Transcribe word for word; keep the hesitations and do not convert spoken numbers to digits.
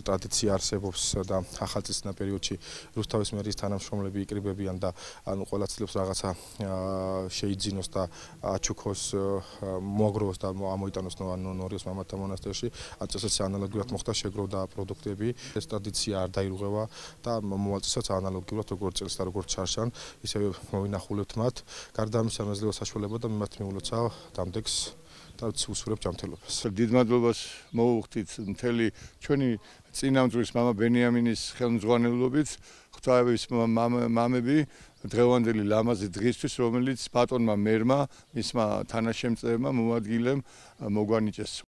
ტრადიცია არსებობს და ახალწლისნა პერიოდში რუსთავის მერის თანამშრომლები იკრიბებიან და ანუ ყველა ცდილობს რაღაცა შეიძინოს და აჩუქოს, მოაგროვოს და ამოიტანოს ნორიოს მამათა მონასტერში. ან წესიც ანალოგიურად მოხდა შეგროვდა პროდუქტები. ეს ტრადიცია არ დაირღვევა და მოვალ წესაც ანალოგიურად როგორც წელს და როგორც ჩარშან, ისევე მოვინახულებთ მათ. გარდა ამისა მეძლევა საშუალება და მიმართ მიულოცა დამდეგს და უსურებ ჯანმრთელობას. დიდ მადლობას მოუხდით მთელი ჩვენი წინამძღვრის მამა ბენიამინის ხელმძღვანელობით, ღვთაების მამები დღევანდელი ლამაზი დღისთვის, რომელიც ბატონმა მერმა, მისმა თანაშემწეებმა, მოადგილემ მოგვანიჭეს.